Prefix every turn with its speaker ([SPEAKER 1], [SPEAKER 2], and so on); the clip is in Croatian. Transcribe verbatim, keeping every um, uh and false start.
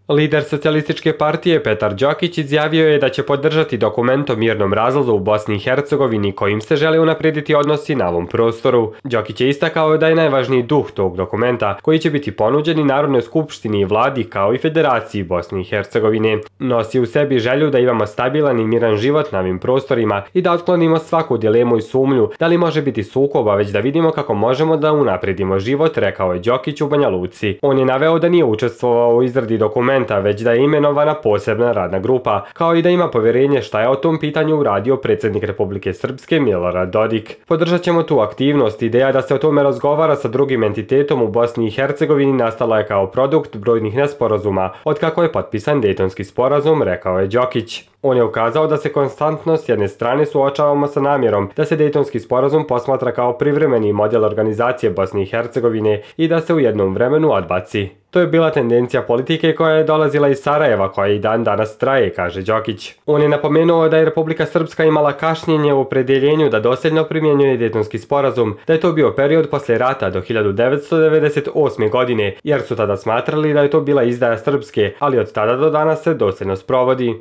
[SPEAKER 1] Lider socijalističke partije Petar Đokić izjavio je da će podržati dokument o mirnom razlazu u Bosni i Hercegovini kojim se želi unaprijediti odnosi na ovom prostoru. Đokić je istakao da je najvažniji duh tog dokumenta koji će biti ponuđen i Narodnoj skupštini i vladi kao i Federaciji Bosne i Hercegovine. Nosi u sebi želju da imamo stabilan i miran život na ovim prostorima i da otklonimo svaku dilemu i sumnju da li može biti sukoba, već da vidimo kako možemo da unaprijedimo život, rekao je Đokić u Banja Luci. On je naveo da nije učestvovao u izradi dokumenta, već da je imenovana posebna radna grupa, kao i da ima povjerenje šta je o tom pitanju uradio predsjednik Republike Srpske Milorad Dodik. Podržat ćemo tu aktivnost. Ideja da se o tome razgovara sa drugim entitetom u Bosni i Hercegovini nastala je kao produkt brojnih nesporazuma od kako je potpisan Dejtonski sporazum, rekao je Đokić. On je ukazao da se konstantno s jedne strane suočavamo sa namjerom da se Dejtonski sporazum posmatra kao privremeni model organizacije Bosne i Hercegovine i da se u jednom vremenu odbaci. To je bila tendencija politike koja je dolazila iz Sarajeva, koja i dan danas traje, kaže Đokić. On je napomenuo da je Republika Srpska imala kašnjenje u opredjeljenju da dosljedno primjenjuje Dejtonski sporazum, da je to bio period poslije rata do hiljadu devetsto devedeset osme. godine, jer su tada smatrali da je to bila izdaja Srpske, ali od tada do danas se dosljedno sprovodi.